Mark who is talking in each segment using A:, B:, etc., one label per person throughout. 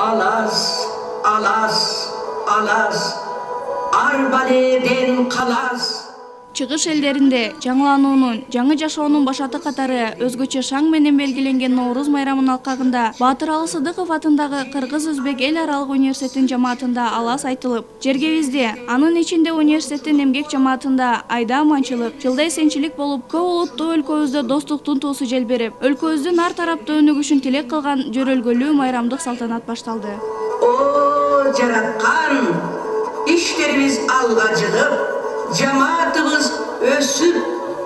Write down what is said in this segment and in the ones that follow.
A: Alas, alas, alas, arbaleden kalas.
B: Чыгыш элдеринде жаңылануунун, жаңы жашоонун башаты катары өзгөчө шаң менен белгиленген Ноуруз майрамынын алкагында Баатыр Алы Сыдыков атындагы Кыргыз-Өзбек эл аралык университетинин жамаатында алас айтылып, жергебизде, анын ичинде университеттин эмгек жамаатында айда аманчылык, жылда эсенчилик болуп, көп улуттуу өлкөбүздө достуктун туусу желберип, өлкөбүздүн ар тараптуу өнүгүшүн тилек кылган жөрөлгөлүү майрамдык салтанат башталды.
A: О, жараткан, иштерибиз алга жыгып, жамаатыбыз өсүп,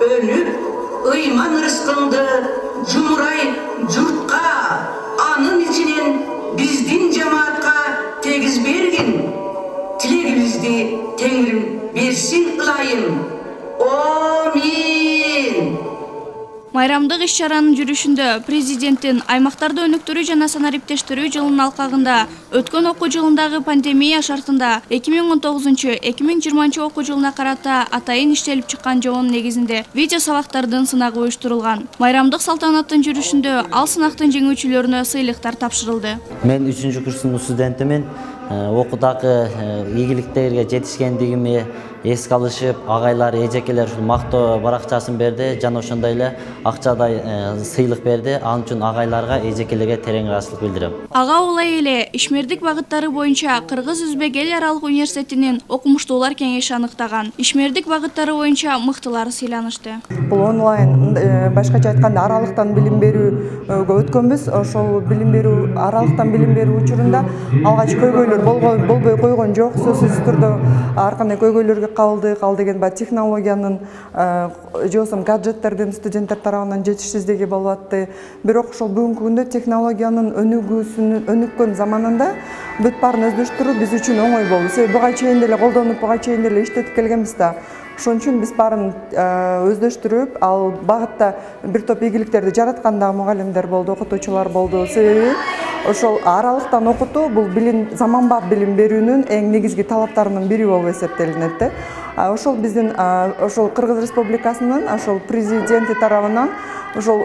A: өнүп, ыйман рызкыңды жумурай журтка, анын ичинен биздин жамаатка тегиз бергин. Тилегибизди Теңирим берсин ылайым. Амин.
B: Майрамдык иш-чаранын жүрүшүндө президенттин аймактарды өнүктүрүү жана санариптештирүү жылынын алкагында өткөн окуу жылындагы пандемия шартында 2019-2020 окуу жылына карата атайын иштелип чыккан жобонун негизинде видео сабактардын сынагы уюштурулган. Майрамдык салтанаттын жүрүшүндө ал сынактын жеңүүчүлөрүнө сыйлыктар тапшырылды.
C: Мен 3-курстун студентимин. Окуудагы ийгиликтерге жетишкендигими эске алышып, агайлар, эжекелер ушул мактоо баракчасын берди жана ошондой эле акчадай сыйлык берди. Ал үчүн агайларга, эжекелерге терең ыраазычылык билдирем.
B: Ага улай эле ишмердик багыттары боюнча Кыргыз-Өзбек эл аралык университетинин окумуштуулар кеңеши аныктаган. Ишмердик багыттары боюнча мыктылары сыйланышты.
D: Бул онлайн, башкача айтканда аралыктан билим берүүгө өткөнбүз. Ошол билим берүү, аралыктан билим берүү учурунда алгач көйгөйлөр болбой койгон жок. Сөзсүз түрдө ар кандай көйгөйлөргө кабылдык. Ал деген технологиянын же болбосо гаджеттердин студенттер тарабынан жетишсиздиги болуп атты. Бирок ошол бүгүнкү күндө технологиянын өнүккөн заманында бүт баарын өздөштүрүү биз үчүн оңой болду. Себеби буга чейин деле колдонуп, буга чейин деле иштетип келгенбиз да. Ошон үчүн биз баарын өздөштүрүп, ал багытта бир топ ийгиликтерди жараткан да мугалимдер болду, окутуучулар болду. Себеби ошол аралыктан окутуу бул заманбап билим берүүнүн эң негизги талаптарынын бири болуп эсептелинет да. Ошол биздин ошол Кыргыз Республикасынын ошол президенти тарабынан ошол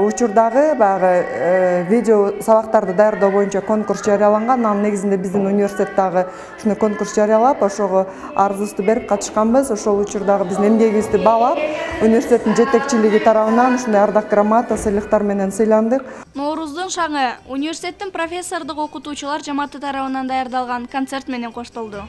D: учурдагы баягы видео сабактарды даярдоо боюнча конкурс жарыяланган. Анын негизинде биздин университет дагы ушундай конкурс жарыялап, ошого арызыбызды берип катышканбыз. Ошол учурдагы биздин эмгегибизди баалап, университеттин жетекчилиги тарабынан ушундай ардак грамота, сыйлыктар менен сыйландык.
B: Норуздун шаңы университеттин профессордук окутуучулар жамааты тарабынан даярдалган концерт менен коштолду.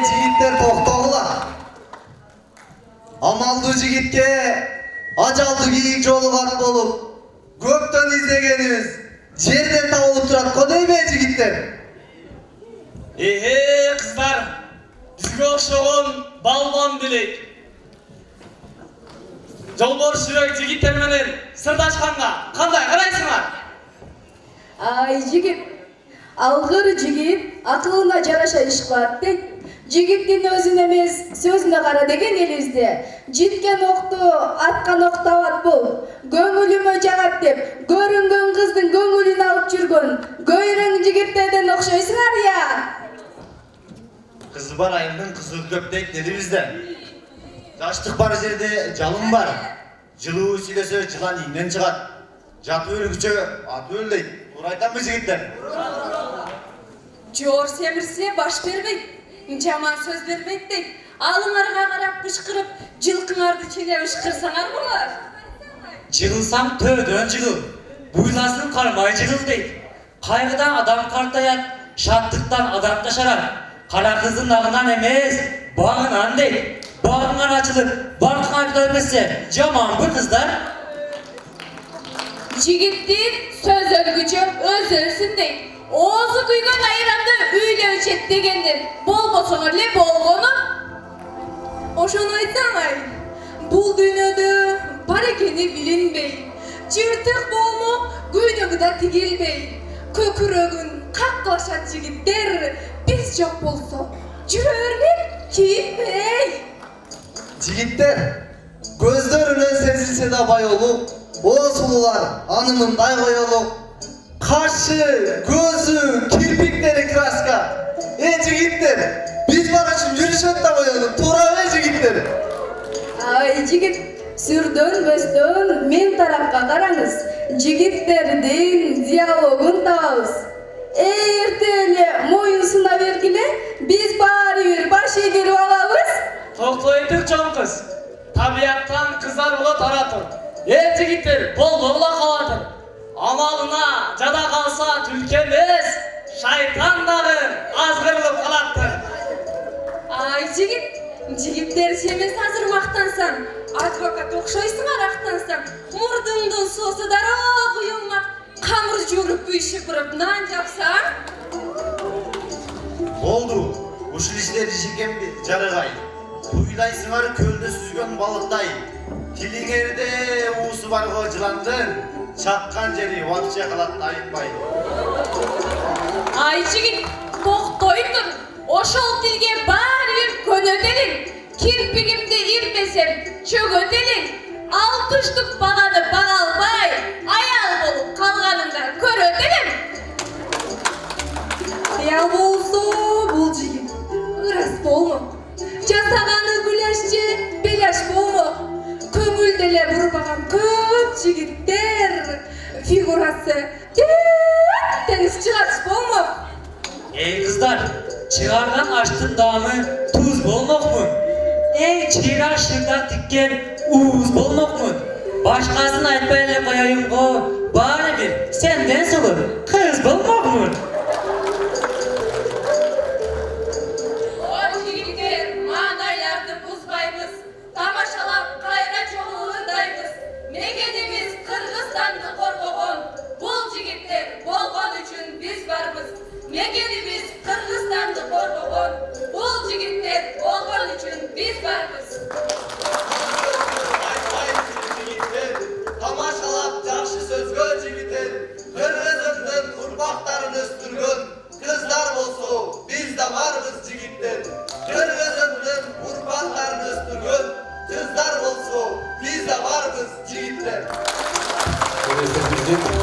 E: Жигиттер, токтогула. Амалдуу жигитке ажалдуу кийик жолуган болуп, көптөн издегенибиз жерден табылып турат го дейби жигиттер?
F: Кыздар, бизге окшогон балбан делек. Жолборс жүрөк жигиттер менен сырдашканга кандай карайсыңар?
G: Ай жигит, алгыр жигит акылына жараша иш кылат дейт. Жигиттин өзүн эмес, сөзүнө кара деген элибизде. Житкен окту аткан ок табат бул. Көңүлүмө жагат деп, көрүнгөн кыздын көңүлүн алып жүргөн көйрөң жигиттерден окшойсуңар я.
E: Кызы бар айымдын кызы көп дейт деди бизде. Жаштык бар жерде жалын бар. Жылуу сүйлөсө жылан ийинен чыгат. Жатып өлгүчө атып өл дейт. Туура айтамбы жигиттер?
H: Жоор семирсе баш бербейт. Жаман сөз бербейт дейт. Алыңарга карап бышкырып, жылкыңарды ченеп ышкырсаңар болот.
F: Жыгылсаң төөдөн жыгыл, буйласын кармай жыгыл дейт. Кайгыдан адам картаят, шаттыктан адам жашарат. Кара кыздын агынан эмес, багынан дейт. Багыңар ачылып, баркыңар күтө берсе, жаманбы кыздар?
H: Жигиттин сөз өлгүчө өз өлсүн дейт. Оозу күйгөн айрамды үйлө ичет дегенден болбосоңор эле болгону. Ошону айтсаңар, бул дүйнөдө бар экени билинбейт. Жыртык болмок күйнөгүдө тигилбейт. Көкүрөгүн каклашат жигиттер, биз жок болсо жүрө бергиле кийинбей.
I: Жигиттер, көздөрүнөн сезилсе да байолук, оосулуулар анымындай коелук. Кашы, көзү, кирпиктери краска. Жигиттер, биз бар үчүн жүрүшөт да коелук, туурабы жигиттер?
G: Ай жигит, сүрдөнбөстөн мен тарапка караңыз. Жигиттердин диалогун табабыз. Эрте эле моюн сына бергиле, биз баары бир баш эгерип алабыз.
F: Токтойдук чоң кыз. Табияттан кыздар болот аратыр. Жигиттер, болбогула калатыр. Амалына жада калса түлкө эмес, шайтан дагы азгырылып калаттыр.
H: Ай жигиттер сен азыр мактансаң, адвокат окшойсуңар актансаң, мурдуңдун суусу дароо куюлмак, камыр жууруп үйшүп буруп нан жапсаң.
E: Болду, ушул иштер ишикем жарыгай. Буйлайсыңар көлдө сүзгөн балыктай. Тилиңерде уусу барго жыландын, чаккан жери убакча калат айытпай.
H: Ай жигит, токтой тур. Ошол тилге баары бир көнөт элиң. Кирпигимди ирмесем чөгөт элиң. Алтыштык баганы бага албай, аял болуп калганыңда көрөт элем.
G: Я болсо бул жигит ырас болмок. Жасаганы гуляш же беляш болмок. Көңүлдө эле бурбаган көп жигиттер фигурасы теңиз чыгач болмок.
F: Кыздар, чыгарган аштын даамы туз болмокмун. Чыйра шырдак тиккен ууз болмокмун. Башкасын айтпай эле коеюн го, баары бир сенден сулуу кыз болмокмун.
H: Тамашалап кайра чогулгандайбыз. Мекенибиз Кыргызстанды коргогон. Бул жигиттер болгон үчүн биз барбыз. Мекенибиз Кыргызстанды коргогон. Бул жигиттер болгон үчүн биз барбыз.
I: Тамашалап жакшы сөзгө жигиттер, Кыргыздын урпактарын өстүргөн кыздар болсо, биз да барбыз жигиттер. Кыргыздын урпактарын өстүргөн kızlar bolso, biz de varız jigitler.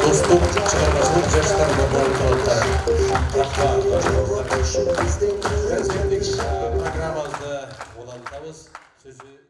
J: Dostum çıkarmasının yaşlarına bağlı programımızda olan tavız sözü